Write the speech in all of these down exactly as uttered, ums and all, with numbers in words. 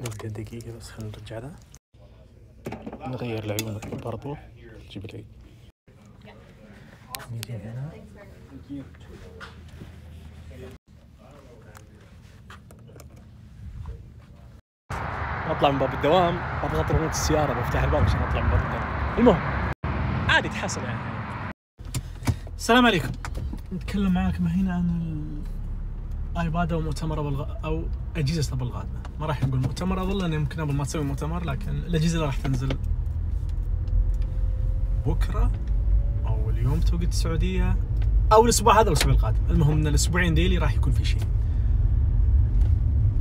نبدأ دقيقة بس، خلينا نرجع له نغير العيون برضو. جيب لي نيجي هنا اطلع من باب الدوام، اضغط ريموت السيارة بفتح الباب عشان اطلع من باب الدوام. المهم عادي تحصل يعني. السلام عليكم، نتكلم معاكم هنا عن الايباد او مؤتمر ابل او اجهزة ابل القادمة. ما راح نقول مؤتمر ابل لان يمكن ابل ما تسوي مؤتمر، لكن الاجهزة اللي راح تنزل بكرة او اليوم توقيت السعودية او الاسبوع هذا والاسبوع القادم. المهم ان الاسبوعين ديلي راح يكون في شيء.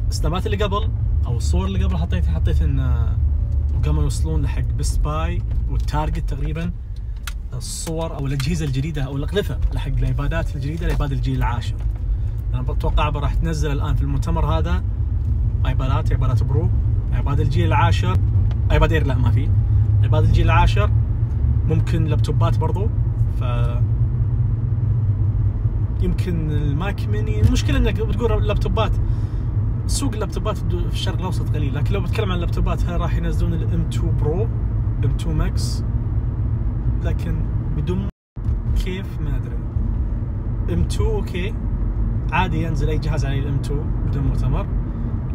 السنابات اللي قبل او الصور اللي قبل حطيتها حطيت ان قاموا يوصلون لحق بيست باي والتارجت تقريبا الصور او الاجهزه الجديده او الاقلفه لحق الايبادات الجديده، الايباد الجيل العاشر. انا بتوقع راح تنزل الان في المؤتمر هذا ايبادات ايبادات برو، ايباد الجيل العاشر، ايباد اير لا ما في، ايباد الجيل العاشر، ممكن لابتوبات برضو. ف يمكن الماك ميني. المشكله انك بتقول اللابتوبات، سوق اللابتوبات في الشرق الاوسط قليل، لكن لو بتكلم عن اللابتوبات راح ينزلون الام اثنين برو، ام اثنين ماكس، لكن بدون كيف ما ادري. ام اثنين اوكي عادي ينزل اي جهاز عليه الام اثنين بدون مؤتمر،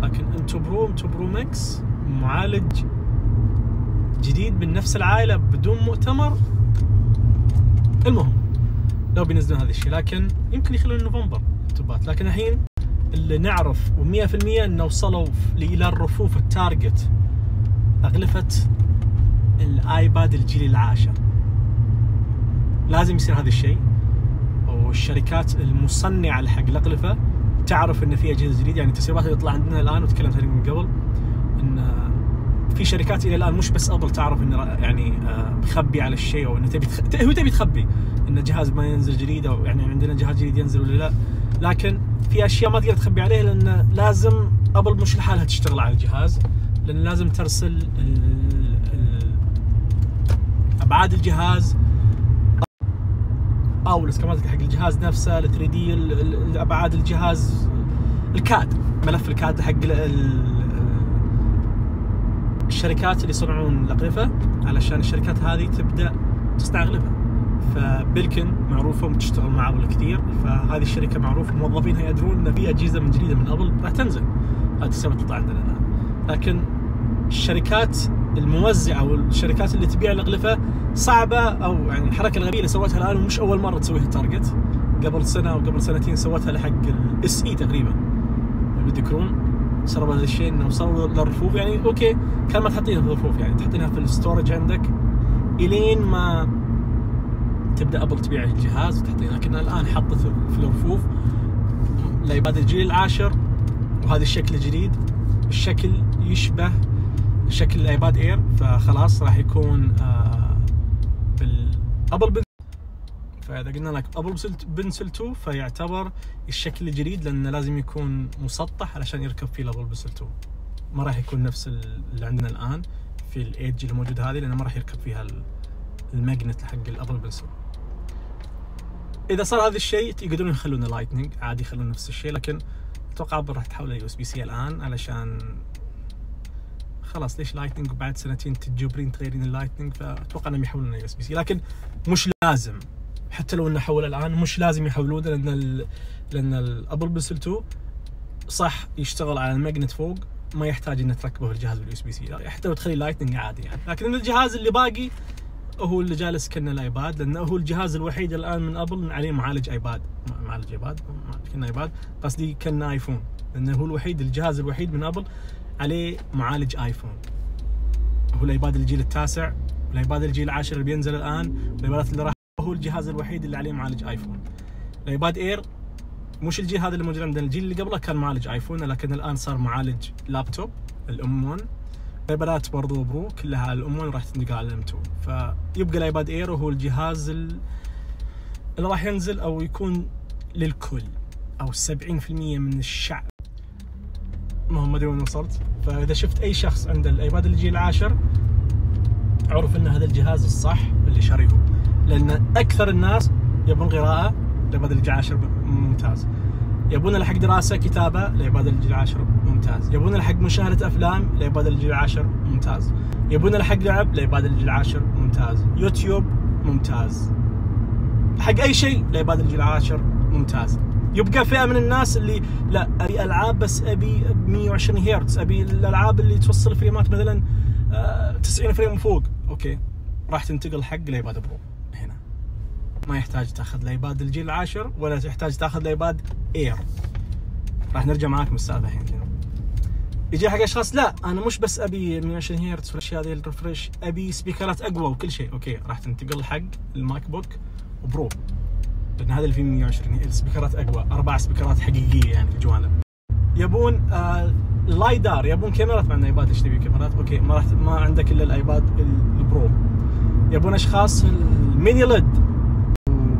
لكن ام اثنين برو، ام اثنين برو ماكس، معالج جديد من نفس العائله بدون مؤتمر. المهم لو بينزلون هذا الشيء، لكن يمكن يخلون نوفمبر لابتوبات. لكن الحين اللي نعرف ومية في المية انه وصلوا الى الرفوف التارجت اغلفه الايباد الجيل العاشر. لازم يصير هذا الشيء، والشركات المصنعه حق الاغلفه تعرف ان في اجهزه جديده. يعني التسريبات اللي تطلع عندنا الان وتكلمت عليها من قبل ان في شركات الى الان مش بس ابل تعرف ان يعني مخبي على الشيء، او انه تبي تخ... هو تبي تخبي ان جهاز ما ينزل جديد، او يعني عندنا جهاز جديد ينزل ولا لا. لكن في اشياء ما تقدر تخبي عليها، لان لازم ابل مش لحالها تشتغل على الجهاز، لان لازم ترسل ال... ال... ابعاد الجهاز او الاسكامات حق الجهاز نفسه، ال ثري دي، ابعاد الجهاز، الكاد، ملف الكاد حق ال... الشركات اللي يصنعون الاغلفه، علشان الشركات هذه تبدا تصنع اغلفه. فبلكن معروفه وتشتغل مع ابل كثير، فهذه الشركه معروفه، موظفينها يدرون ان في اجهزه من جديده من ابل راح تنزل. هذه السبب تطلع عندنا الان. لكن الشركات الموزعه والشركات اللي تبيع الاغلفه صعبه، او يعني الحركه الغبيه اللي سوتها الان ومش اول مره تسويها تارجت. قبل سنه او قبل سنتين سوتها لحق الاس اي تقريبا اللي بتذكرون. سرب هذا الشيء انه وصلوا للرفوف. يعني اوكي كان ما تحطينها في الرفوف، يعني تحطينها في الستورج عندك الين ما تبدا ابل تبيع الجهاز وتحطينها. لكن الان حطت في الرفوف الايباد الجيل العاشر، وهذا الشكل الجديد، الشكل يشبه شكل الايباد اير، فخلاص راح يكون آه بالابل بن... فاذا قلنا لك ابل بنسل اثنين فيعتبر الشكل الجديد، لانه لازم يكون مسطح علشان يركب فيه الابل بنسل اثنين. ما راح يكون نفس اللي عندنا الان في الايدج اللي موجود هذه، لانه ما راح يركب فيها الماجنت حق الابل بنسل. اذا صار هذا الشيء يقدرون يخلون لايتنينج عادي، يخلون نفس الشيء، لكن اتوقع ابل راح تحول يو اس بي سي الان، علشان خلاص ليش لايتنينج وبعد سنتين تجبرين تغيرين اللايتنينج. فاتوقع انهم يحولون يو اس بي سي، لكن مش لازم. حتى لو انه حول الان مش لازم يحولون، لان ال لان الابل بنسل اثنين صح يشتغل على الماجنت فوق، ما يحتاج انك تركبه الجهاز باليو اس بي سي، حتى لو تخلي لايتنينج عادي يعني. لكن الجهاز اللي باقي هو اللي جالس كنا الايباد، لانه هو الجهاز الوحيد الان من ابل عليه معالج ايباد، معالج ايباد كنا ايباد قصدي كنا ايفون، لانه هو الوحيد، الجهاز الوحيد من ابل عليه معالج ايفون. هو الايباد الجيل التاسع، والايباد الجيل العاشر اللي بينزل الان، والايبادات اللي راح، هو الجهاز الوحيد اللي عليه معالج ايفون. الايباد اير مش الجيل هذا اللي موجود عندنا، الجيل اللي قبله كان معالج ايفون، لكن الان صار معالج لابتوب الام واحد. الايبادات برضو برو كلها على الام واحد راح تنتقل على الام اثنين، فيبقى الايباد اير وهو الجهاز اللي راح ينزل او يكون للكل، او سبعين في المية من الشعب. المهم ما ادري وين وصلت. فاذا شفت اي شخص عنده الايباد الجيل العاشر اعرف ان هذا الجهاز الصح اللي شاريه، لان اكثر الناس يبون قراءه. الايباد الجيل العاشر ممتاز، يبون حق دراسة كتابة لعباد الجيل العاشر ممتاز. يبون حق مشاهدة أفلام لعباد الجيل العاشر ممتاز. يبون حق لعب لعباد الجيل العاشر ممتاز. يوتيوب ممتاز. حق أي شيء لعباد الجيل العاشر ممتاز. يبقى فئة من الناس اللي لا أبي ألعاب بس أبي مية وعشرين هرتز، أبي الألعاب اللي توصل فريمات مثلا تسعين فريم وفوق، أوكي راح تنتقل حق لعباد برو. هنا ما يحتاج تاخذ لعباد الجيل العاشر ولا تحتاج تاخذ لعباد اير. راح نرجع معاكم السالفة الحين كذا. يجي حق اشخاص لا انا مش بس ابي مية وعشرين هرتز والاشياء هذه الريفرش، ابي سبيكرات اقوى وكل شيء، اوكي راح تنتقل حق الماك بوك وبرو، لان هذا اللي فيه مية وعشرين السبيكرات اقوى، اربع سبيكرات حقيقيه يعني في الجوانب. يبون آه لايدار، يبون كاميرات. مع الايباد ايش تبي كاميرات؟ اوكي ما راح ما عندك الا الايباد البرو. يبون اشخاص الميني ليد،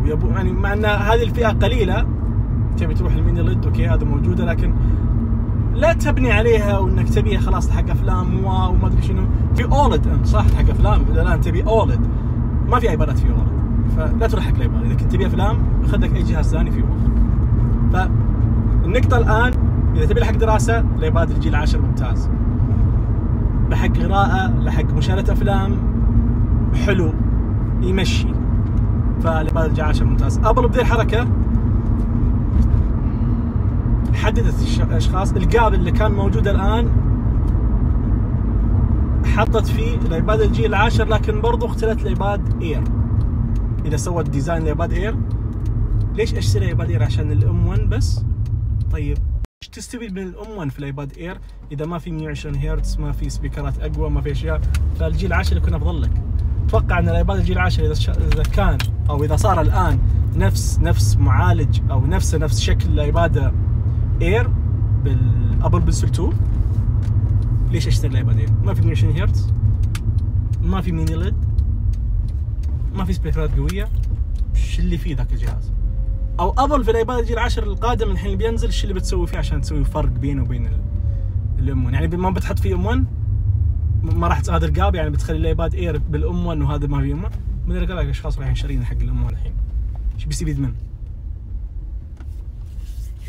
ويبون يعني مع ان هذه الفئه قليله تبي تروح الميني ليد، اوكي هذا موجوده، لكن لا تبني عليها وانك تبيها خلاص حق افلام واو وما ادري شنو. في اولد صح حق افلام، اذا الان تبي اولد ما في ايبادات في اولد، فلا تروح حق الايباد. اذا كنت تبي افلام خذ لك اي جهاز ثاني في اولد. فالنقطه الان اذا تبي حق دراسه الايباد الجيل العاشر ممتاز، لحق قراءه لحق مشاهده افلام حلو يمشي، فالايباد الجيل العاشر ممتاز. ابل بذي الحركه حددت الاشخاص الجاب اللي كان موجود الان، حطت فيه الايباد الجيل العاشر، لكن برضو اختلت الايباد اير. اذا سوت ديزاين الايباد اير، ليش اشتري ايباد اير؟ عشان الام واحد بس؟ طيب ايش تستفيد من الام واحد في الايباد اير اذا ما في مية وعشرين هرتز، ما في سبيكرات اقوى، ما في اشياء؟ فالجيل العاشر يكون افضل لك. اتوقع ان الايباد الجيل العاشر اذا اذا كان او اذا صار الان نفس نفس معالج او نفس نفس شكل الايباد اير بالابل بنسل اثنين، ليش اشتري الايباد اير؟ ما في مية وعشرين هرتز، ما في ميني ليد، ما في سبيكرات قويه، ايش اللي فيه ذاك الجهاز؟ او ابل في الايباد الجيل العاشر القادم الحين اللي بينزل ايش اللي بتسوي فيه عشان تسوي فرق بينه وبين الام واحد؟ يعني ما بتحط فيه ام واحد، ما راح هذا القاب يعني بتخلي الايباد اير بالام واحد وهذا ما في ام واحد. من قال لك اشخاص رايحين شارين حق الام واحد الحين، ايش بيستفيد منه؟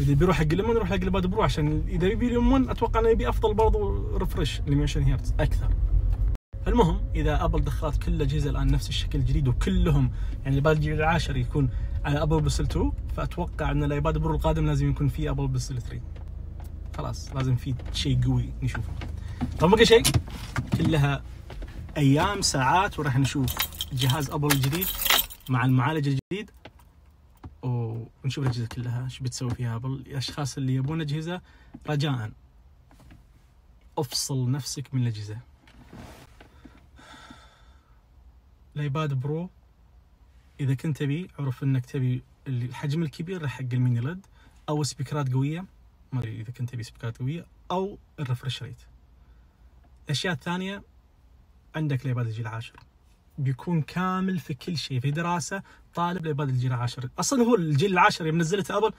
اذا بيروح حق الام يروح حق الايباد برو، عشان اذا يبي الام واحد اتوقع انه يبي افضل برضو ريفرش ل مية وعشرين هرتز اكثر. المهم اذا ابل دخلت كل الاجهزه الان نفس الشكل الجديد وكلهم يعني الايباد الجيل العاشر يكون على ابل بنسل اثنين، فاتوقع ان الايباد برو القادم لازم يكون فيه ابل بنسل ثلاثة. خلاص لازم فيه شيء قوي نشوفه. طب بقى شيء كلها ايام ساعات وراح نشوف جهاز ابل الجديد مع المعالج الجديد، ونشوف الاجهزه كلها ايش بتسوي فيها ابل. الاشخاص اللي يبون اجهزه رجاء افصل نفسك من الاجهزه. الايباد برو اذا كنت تبي عرف انك تبي الحجم الكبير حق الميني ليد، او سبيكرات قويه، ما ادري اذا كنت تبي سبيكرات قويه، او الريفرش ريت. الاشياء الثانيه عندك الايباد الجيل العاشر بيكون كامل في كل شيء. في دراسه طالب الايباد الجيل العاشر، اصلا هو الجيل العاشر يوم نزلته ابل،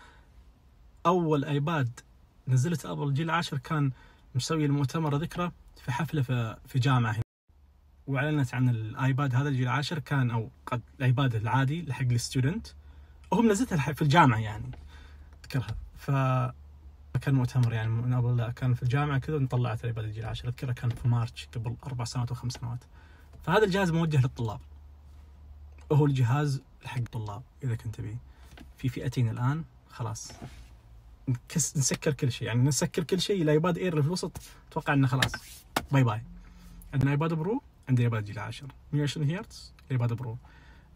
اول ايباد نزلته ابل الجيل العاشر كان مسوي المؤتمر ذكرى في حفله في في جامعه هنا، واعلنت عن الايباد هذا الجيل العاشر. كان او قد الايباد العادي حق الستودنت، وهم نزلتها في الجامعه يعني اذكرها. ف كان مؤتمر يعني من ابل، لا كان في الجامعه كذا طلعت الايباد الجيل العاشر، اذكرها كان في مارتش قبل اربع سنوات او خمس سنوات. فهذا الجهاز موجه للطلاب، وهو الجهاز حق الطلاب. اذا كنت تبي في فئتين الان خلاص نكس نسكر كل شيء، يعني نسكر كل شيء. الايباد اير اللي في الوسط اتوقع انه خلاص باي باي. عندنا ايباد برو، عندنا ايباد الجيل العاشر مية وعشرين هرتز ايباد برو،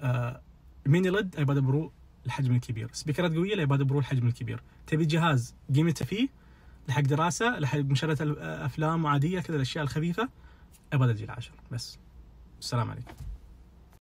آه ميني ليد ايباد برو الحجم الكبير، سبيكرات قويه الايباد برو الحجم الكبير. تبي جهاز قيمته فيه لحق دراسه، لحق مشاهده افلام عاديه كذا الاشياء الخفيفه، ايباد الجيل العاشر بس. السلام عليكم.